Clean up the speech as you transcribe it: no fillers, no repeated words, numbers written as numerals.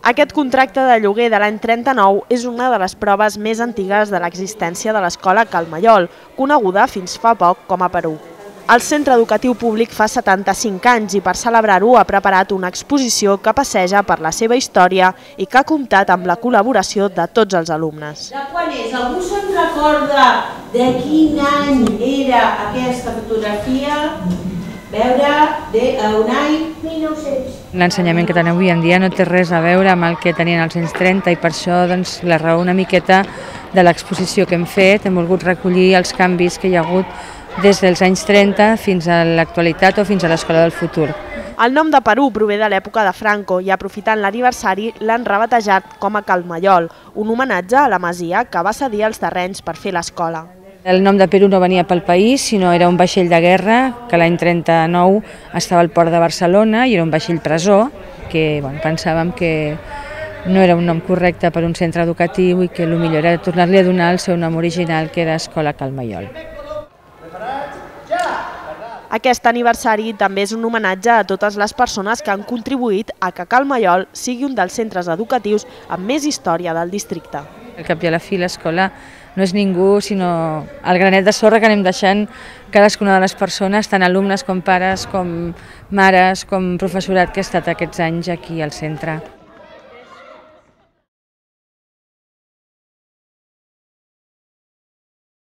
Aquest contracte de lloguer de l'any 39 és una de les proves més antigues de l'existència de l'escola Cal Maiol, coneguda fins fa poc com a Perú. El centre educatiu públic fa 75 anys i per celebrar-ho ha preparat una exposició que passeja per la seva història i que ha comptat amb la col·laboració de tots els alumnes. De quan és? Algú se'n recorda de quin any era aquesta fotografia? Veure, d'un any 1900. L'ensenyament que tenen avui en dia no té res a veure amb el que tenien als anys 30 i per això la raó una miqueta de l'exposició que hem fet. Hem volgut recollir els canvis que hi ha hagut des dels anys 30 fins a l'actualitat o fins a l'escola del futur. El nom de Perú prové de l'època de Franco i aprofitant l'aniversari l'han rebatejat com a Cal Maiol, un homenatge a la masia que va cedir els terrenys per fer l'escola. El nom de Perú no venia pel país, sinó era un vaixell de guerra que l'any 39 estava al port de Barcelona i era un vaixell presó que pensàvem que no era un nom correcte per un centre educatiu i que el millor era tornar-li a donar el seu nom original, que era Escola Cal Maiol. Aquest aniversari també és un homenatge a totes les persones que han contribuït a que Cal Maiol sigui un dels centres educatius amb més història del districte. Al cap i a la fi l'escola no és ningú sinó el granet de sorra que anem deixant cadascuna de les persones, tant alumnes com pares, com mares, com professorat que ha estat aquests anys aquí al centre.